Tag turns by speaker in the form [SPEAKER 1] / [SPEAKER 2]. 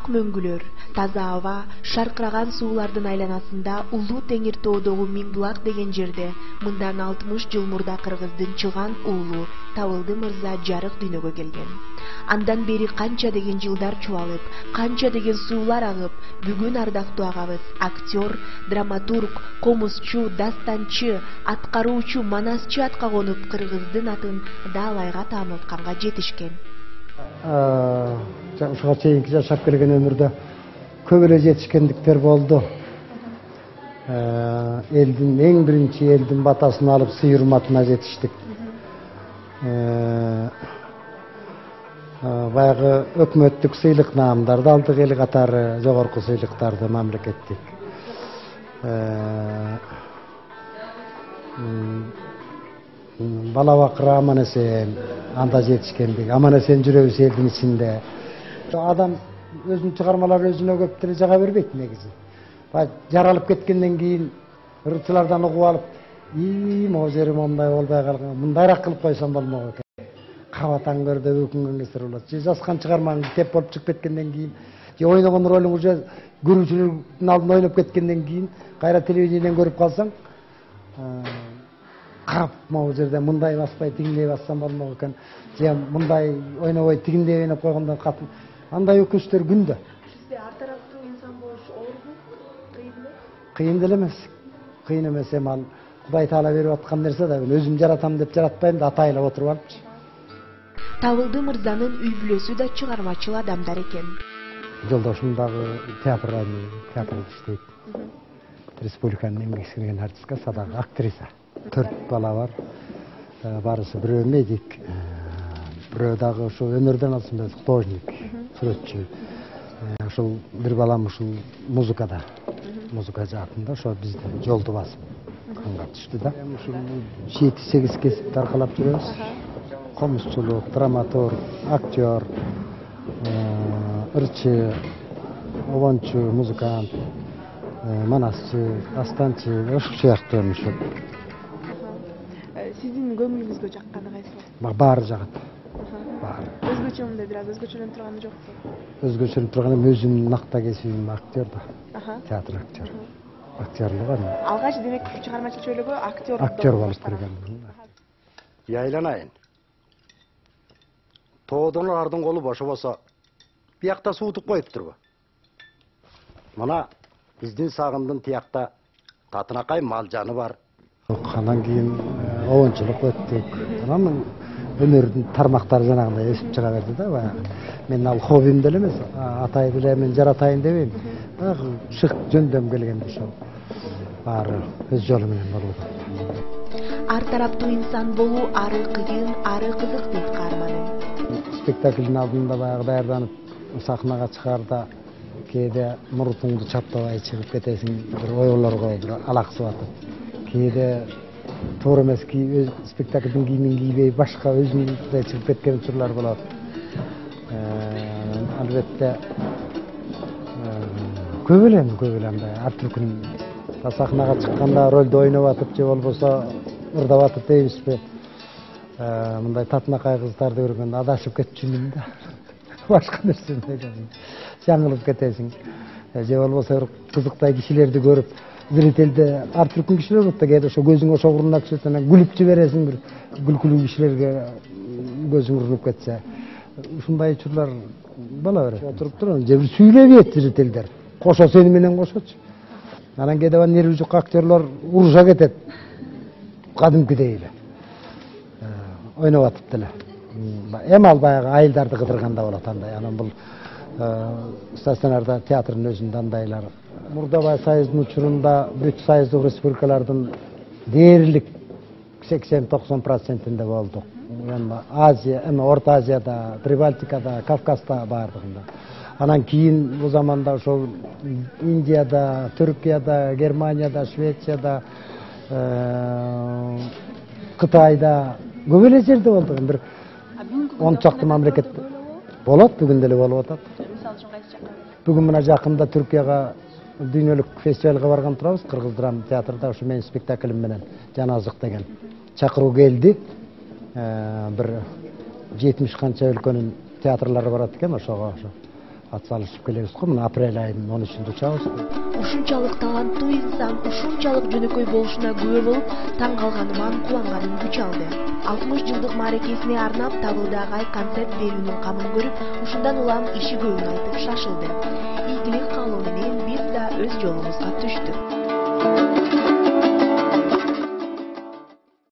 [SPEAKER 1] ак мөңгүлөр, таза аба, шаркыраган суулардын айланасында Улуу Теңир тоодогу Миңбулак деген жерде мындан 60 жыл мурда кыргыздын чыган уулу Табылды мырза жарык дүйнөгө келген. Андан бери канча деген жылдар чубалып, канча деген суулар агып, бүгүн ардактуу агабыз актер, драматург, комузчу, дастанчы, аткаруучу, манасчы атка конуп кыргыздын атын даалайга таанылтканга жетишкен.
[SPEAKER 2] Ушуга чейинки жашап келген өмүрдө көп эле жетишкендиктер болду. Элдин эң биринчи элдин батасын алып сый урматына жетиштик. Баягы өкмөттүк сыйлык наамдарды алдык, эл катары жогорку сыйлыктарды мамлекеттик. Бала бакыры аман-эсен анда жетишкендик. Аман-эсен жүрөбүз элдин ичинде. Адам өзүнүн чыгармалары өзүнө көп деле жага бербейт негизи. Жаралып кеткенден кийин ырчылардан угуп алып, могу жери мондай болбой калган, мындайраак кылып койсом болмок экен. Кабатаң көрдө өкүнгөн кездер болот. Же жазган чыгармаң теп болуп чыгып кеткенден кийин, же ойногон ролуң уже көрүүчүлөрдүн алдында ойноп кеткенден кийин, кайра телевидениеден көрүп калсаң, кап могу жерде мындай баспай тигиндей бассам болмок экен. Же мындай ойнобой тигиндей ойноп койгондон катын андай өкүнүчтөр күндө.
[SPEAKER 1] Сизде ар тараптуу инсан болуш оорбу? Кыйынбы?
[SPEAKER 2] Кыйын деле эмес. Кыйын эмес, эми ал Кудай Таала берип аткан нерсе да, өзүм жаратам деп жаратпайм да, атайлап отуруп алыпчы.
[SPEAKER 1] Табылды мырзанын үй бүлөсү да чыгармачыл адамдар экен.
[SPEAKER 2] Жолдошум дагы театрда иштейт. Республиканын эмгек сиңирген артистка, садагы актриса. 4 бала бар. Барысы бирөө медик, бирөө дагы ошо өнөрдөн алсын художник, сүрөтчү. Ошол бир балам ушул музыкада, музыка жаатында ошо биздин жолду басып канга түштү да. Ушул 7-8 кесипти аркалап жүрөбүз. Комузчулук, драматург, актер, ырчы, обончу, музыкант, манасчы, дастанчы, ошол сыяктуу ошо.
[SPEAKER 1] Сиздин көңүлүңүзгө жакканы кайсы?
[SPEAKER 2] Баары жагат. Баары.
[SPEAKER 1] Өзгөчө мындай бир аз өзгөчөлөнүп турганы жокпу?
[SPEAKER 2] Өзгөчөлөнүп турганы өзүмдүн накта кесибим актер да. Театр актер. Актерлук аны.
[SPEAKER 1] Алгач демек чыгармачыл чөйлөгө
[SPEAKER 2] актер болуп кирген.
[SPEAKER 3] Айланайын. Тоодонлардын колу бошобосо биякта суутуп коюптурбу? Мына биздин сагындын тиякта татынакай мал жаны бар.
[SPEAKER 2] Андан кийин обончулук өттүк. Анан өнөрдүн тармактары жанагындай өсүп чыга берди да. Баягы мен ал хоббим деле эмес, атай биле мен жаратайын дебейм. Баягы шык жөндөм келген ошол. Баары өз жолу менен болуп атат.
[SPEAKER 1] Ар тараптуу инсан болуу ары кыйын, ары кызык дейт каарманы.
[SPEAKER 2] Спектаклдин алдында баягы даярданып сахнага чыгарда кээде мурутуңду чаптабай чыгып кетесиң, бир ойлорго бир алаксып атып. Кээде туура эмес спектаклдин кийимин кийбей башка өзүндөй чыгып кеткен учурлар болот. Албетте көп эле андай ар түркүн сахнага чыкканда ролду ойноп атып же болбосо ырдап атып дейбизби, мындай татынакай кыздарды көргөндө адашып кетчүмүн да. Башка нерсени ойлойсуң, жаңылып кетесиң. Же болбосо бир кызыктай кишилерди көрүп, зрителде ар түркүн кишилер болот да, кээде ошо көзүң ошо уруна түшөт, анан күлүп жибересиң, бир күлкүлүү кишилерге көзүң урунуп кетсе. Ушундай учурлар боло берет. Отуруп турам, же бир сүйлөбөйт зрителдер. Кошо сени менен кошочу. Анан кээде нерви жок актерлор уруша кетет. Кадимкидей эле. Ойноп атып деле. Эми ал баягы айылдарды кыдырганда болот андай. Анан бул стационарда театрдын өзүндө андайлар. Мурдабай союздун учурунда бүт союздук республикалардын дээрлик 80-90%-инде болдук. Азия, Орто Азияда, Прибалтикада, Кавказда бардыгында. Анан кийин бул заманда ошол Индияда, Түркияда, Германияда, Швецияда, Кытайда көп эле жерде болдук. Бир 10 чакты мамлекет болот, бүгүн деле болуп атат. Бүгүн мына жакында Түркияга дүйнөлүк фестивалга барган турабыз, Кыргыз драма театрда ошо менин спектаклим менен Жаназык деген чакыруу келди. Бир 70 канча өлкөнүн театрлары барат экен ошого. ат салышып келебиз го. Мына апрель айынын 13-ндө учабыз.
[SPEAKER 1] Ушунчалык таланттуу инсан ушунчалык жөнөкөй болушуна күбө болуп, таң калганыман кубанганым күч алды. 60 жылдык мааракесине арнап Табылды агай концерт берүүнүн камын көрүп, ушундан улам иши көбүн айтып шашылды. Ийгилик каалоо менен биз да өз жолубузга түштүк.